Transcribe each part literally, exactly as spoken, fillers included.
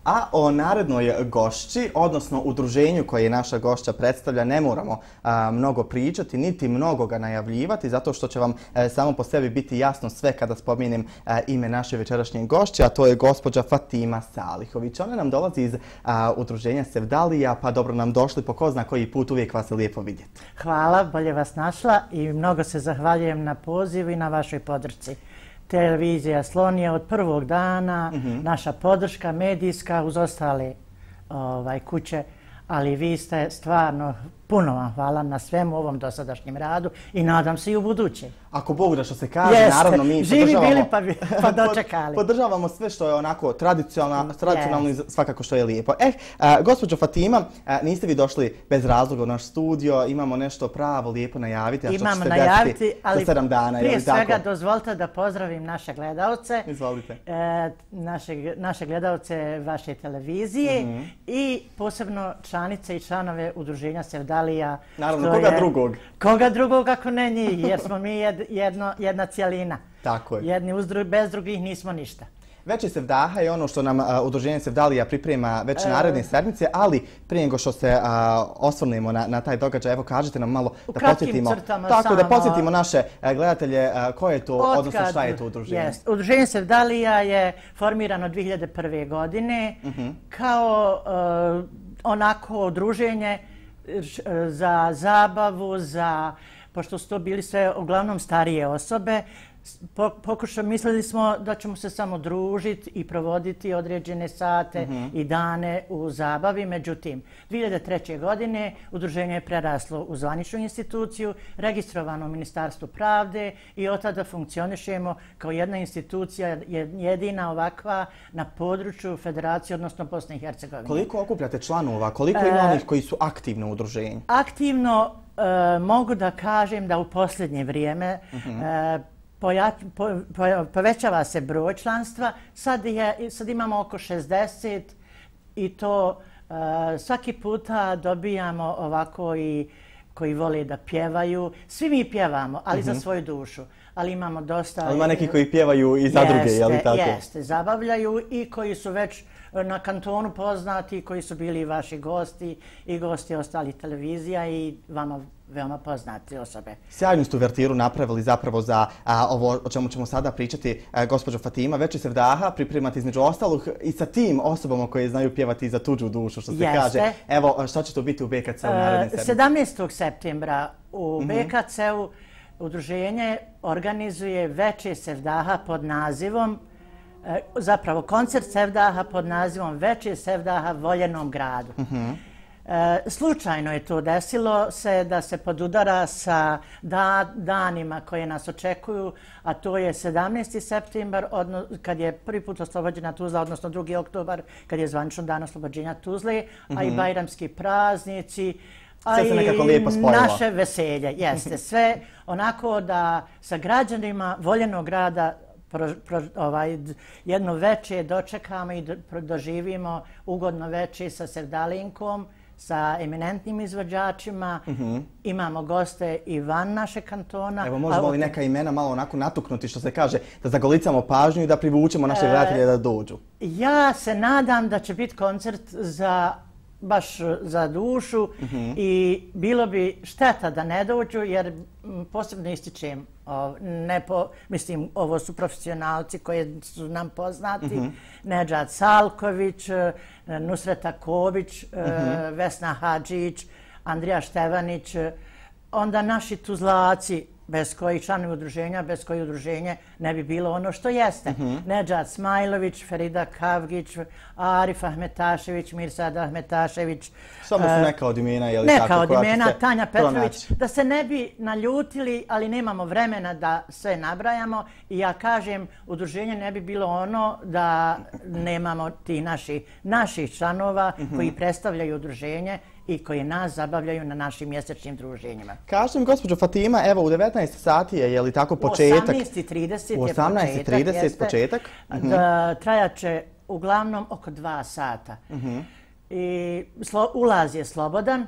A o narednoj gošći, odnosno udruženju koje naša gošća predstavlja, ne moramo a, mnogo pričati, niti mnogo ga najavljivati, zato što će vam a, samo po sebi biti jasno sve kada spomenem a, ime naše večerašnje gošće, a to je gospođa Fatima Salihović. Ona nam dolazi iz a, udruženja Sevdalija, pa dobro nam došli po ko zna koji put, uvijek vas je lijepo vidjeti. Hvala, bolje vas našla i mnogo se zahvaljujem na pozivu i na vašoj podršci. Televizija Slon je od prvog dana, mm-hmm. naša podrška medijska uz ostale ovaj, kuće, ali vi ste stvarno, puno vam hvala na svemu ovom dosadašnjem radu i nadam se i u buduće. Ako Bog da što se kaže, Jeste. naravno mi živi podržavamo, bili pa, pa dočekali. podržavamo sve što je onako tradicionalno, tradicionalno i svakako što je lijepo. Eh, a, gospođo Fatima, a, niste vi došli bez razloga u naš studio, imamo nešto pravo lijepo najaviti, a što Imamo ćete najaviti, desiti ali za sedam dana. prije je li svega tako? dozvolite da pozdravim naše gledalce. Izvolite. E, naše, naše gledalce vaše televizije mm-hmm. i posebno članice i članove udruženja Sevdalija. Naravno, koga je, drugog? Koga drugog ako ne njih, jer smo mi jed, jedno, jedna cijelina. Tako je. Jedni uz dru, bez drugih nismo ništa. Veći Sevdaha je ono što nam a, udruženje Sevdalija priprema već e... naredne sedmice, ali prije nego što se a, osvrnemo na, na taj događaj, evo kažete nam malo u da podsjetimo, tako samo, da podsjetimo naše a, gledatelje a, koje je to, otkad, odnosno šta je to udruženje. Jest. Udruženje Sevdalija je formirano dvije hiljade prve. godine uh-huh. kao uh, onako udruženje za zabavu, za, pošto su to bili sve uglavnom starije osobe, pokušali, mislili smo da ćemo se samo družiti i provoditi određene sate mm-hmm. i dane u zabavi. Međutim, dvije hiljade treće. godine udruženje je preraslo u zvaničnu instituciju, registrovano u Ministarstvu pravde i od tada funkcionišemo kao jedna institucija, jedina ovakva na području Federacije, odnosno Bosne i Hercegovine. Koliko okupljate članova? Koliko ima onih koji su aktivno u udruženju? Aktivno e, mogu da kažem da u posljednje vrijeme mm-hmm. e, Poja, po, po, povećava se broj članstva, sad, je, sad imamo oko šezdeset i to uh, svaki puta dobijamo ovako i koji vole da pjevaju. Svi mi pjevamo, ali mm-hmm. za svoju dušu. Ali imamo dosta... Ali ima neki koji pjevaju i za druge, je li tako? Jeste, zabavljaju i koji su već na kantonu poznati, koji su bili vaši gosti i gosti ostalih televizija i vama veoma poznati osobe. Sjajnu ste uvertiru napravili zapravo za a, ovo o čemu ćemo sada pričati, a, gospođo Fatima. Veći Sevdaha pripremati između ostalog i sa tim osobama koje znaju pjevati za tuđu dušu, što se Jeste. kaže. Evo, šta će to biti u B K C-u naredne sedmice? sedamnaestog septembra u mm-hmm. B K C-u udruženje organizuje Veče Sevdaha pod nazivom, zapravo koncert Sevdaha pod nazivom Veče Sevdaha Voljenom gradu. Mm-hmm. E, slučajno je to desilo se da se podudara sa da, danima koje nas očekuju, a to je sedamnaesti septembar, odno, kad je prvi put oslobođena Tuzla, odnosno drugi oktobar, kad je zvanično dan oslobođenja Tuzle, mm-hmm. a i bajramski praznici, a sve se nekako lijepo spojilo. Naše veselje. Jeste sve onako da sa građanima Voljenog grada Pro, pro, ovaj, jedno veče dočekamo i do, doživimo ugodno veče sa Sevdalinkom, sa eminentnim izvođačima. Mm-hmm. Imamo goste i van naše kantona. Evo, možemo li neka imena malo onako natuknuti, što se kaže, da zagolicamo pažnju i da privučemo naše e, gledatelje da dođu? Ja se nadam da će biti koncert za baš za dušu mm-hmm. i bilo bi šteta da ne dođu, jer posebno ističem, ne po, mislim, ovo su profesionalci koji su nam poznati, mm-hmm. Nedžad Salković, Nusreta Ković, mm-hmm. Vesna Hadžić, Andrija Števanić, onda naši tuzlaci, bez kojih članovi udruženja, bez kojih udruženje ne bi bilo ono što jeste. Mm-hmm. Nedžad Smajlović, Ferida Kavgić, Arif Ahmetašević, Mirsad Ahmetašević. Samo su neka od imena, je li neka tako? Neka od imena, Tanja Petrović. Pronaći. Da se ne bi naljutili, ali nemamo vremena da sve nabrajamo. I ja kažem, udruženje ne bi bilo ono da nemamo ti naši, naših članova mm-hmm. koji predstavljaju udruženje i koji nas zabavljaju na našim mjesečnim druženjima. Kažem, gospođo Fatima, evo u devetnaest sati je, je li tako početak? U osamnaest i trideset je početak. U osamnaest i trideset početak? Mm-hmm. Da, trajaće uglavnom oko dva sata. Mm-hmm. I slo, ulaz je slobodan.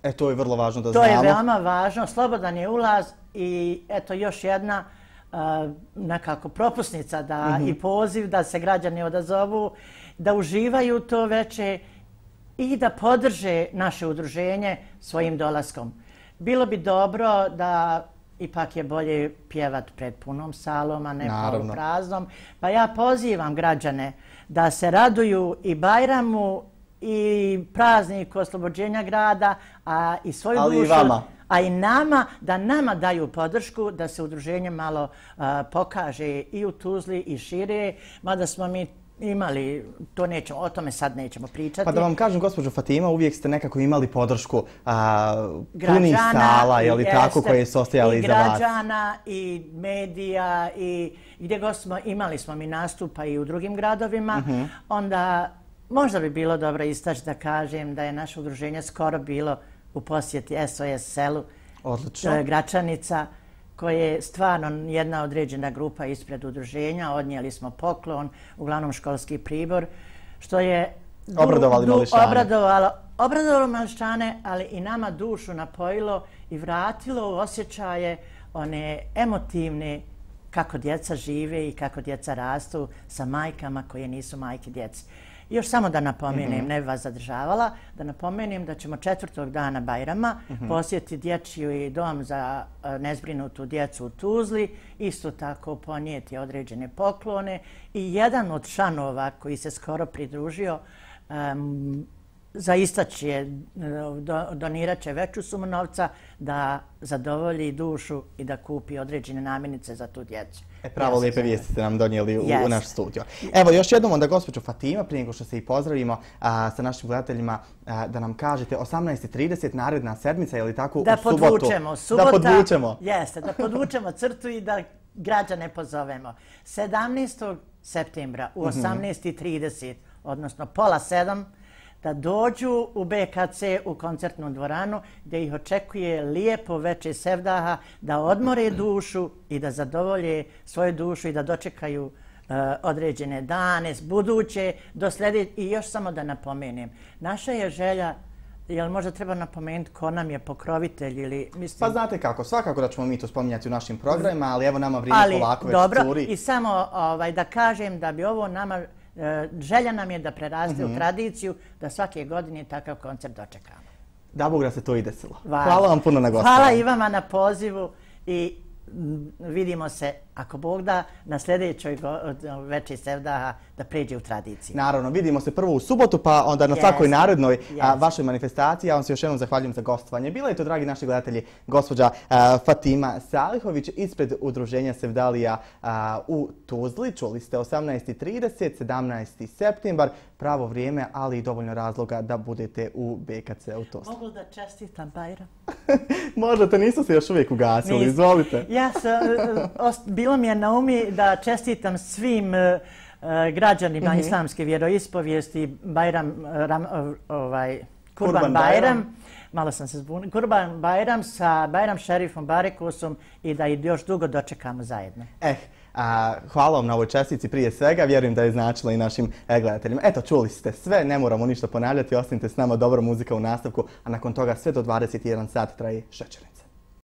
E, to je vrlo važno da to znamo. To je veoma važno. Slobodan je ulaz i eto još jedna nekako propusnica da, i poziv da se građani odazovu, da uživaju to veče i da podrže naše udruženje svojim dolaskom. Bilo bi dobro da ipak je bolje pjevat pred punom salom, a ne polu praznom. Pa ja pozivam građane da se raduju i Bajramu i prazniku oslobođenja grada, a i svoju ali dušu, i vama. A i nama, da nama daju podršku, da se udruženje malo a, pokaže i u Tuzli i šire, mada smo mi imali, to nećemo, o tome sad nećemo pričati. Pa da vam kažem, gospođo Fatima, uvijek ste nekako imali podršku a, punih sala, je li tako, koje su ostajali iza vas? I građana, i medija, i gdje god smo, imali smo mi nastupa i u drugim gradovima, onda možda bi bilo dobro istaći da kažem da je naše udruženje skoro bilo u posjeti S O S selu Gračanica, koje je stvarno jedna određena grupa ispred udruženja. Odnijeli smo poklon, uglavnom školski pribor, što je obradovali mališane. Obradovalo, obradovalo mališane, ali i nama dušu napojilo i vratilo u osjećaje one emotivne kako djeca žive i kako djeca rastu sa majkama koje nisu majke djeci. Još samo da napomenem, ne bi vas zadržavala, da napomenem da ćemo četvrtog dana Bajrama posjetiti dječji dom za nezbrinutu djecu u Tuzli, isto tako ponijeti određene poklone i jedan od članova koji se skoro pridružio um, za istaći je, donirat će veću sumu novca da zadovolji dušu i da kupi određene namirnice za tu djecu. E, pravo ja lijepe vijesti ste nam donijeli u, u naš studio. Evo, još jednom onda gospođo Fatima, prije nego što se i pozdravimo a, sa našim gledateljima, a, da nam kažete osamnaest i trideset naredna sedmica, je li tako, da u subotu? Podvučemo, subota, da podvučemo. Jeste, da podvučemo crtu i da građane pozovemo. sedamnaestog septembra u osamnaest i trideset, odnosno pola sedam, da dođu u B K C u koncertnu dvoranu gdje ih očekuje lijepo veče sevdaha, da odmore dušu i da zadovolje svoju dušu i da dočekaju uh, određene dane, buduće, do sljedeće. I još samo da napomenem, naša je želja, jel možda treba napomenuti ko nam je pokrovitelj ili mislim... Pa znate kako, svakako da ćemo mi to spominjati u našim programima, ali evo nama vrijeme ali, polako već dobro, curi. I samo ovaj, da kažem da bi ovo nama... Želja nam je da preraste u tradiciju, da svake godine takav koncert dočekamo. Da Bog da se to i desilo. Hvala vam puno na gostovanju. Hvala i vama na pozivu i vidimo se, ako Bog da, na sljedećoj večeri sevdaha da pređe u tradiciju. Naravno, vidimo se prvo u subotu, pa onda na svakoj narednoj vašoj manifestaciji. Ja vam se još jednom zahvaljujem za gostovanje. Bila je to, dragi naši gledatelji, gospođa Fatima Salihović ispred udruženja Sevdalija u Tuzli. Čuli ste osamnaest i trideset, sedamnaesti septembar, pravo vrijeme, ali i dovoljno razloga da budete u B K C u Tuzli. Mogu da čestitam Bajram? Možda, to nisu se još uvijek ugasili, izvolite. Ja sam, bilo mi je na umi da čestitam svim građanima islamske vjeroispovijesti Bajram, ovaj, Kurban Bajram, malo sam se zbunila, Kurban Bajram sa Bajram Šerifom Barekusom i da i još dugo dočekamo zajedno. Eh, a, hvala vam na ovoj čestici prije svega, vjerujem da je značila i našim gledateljima. Eto, čuli ste sve, ne moramo ništa ponavljati, ostanite s nama, dobra muzika u nastavku, a nakon toga sve do dvadeset jedan sat traje Šećere.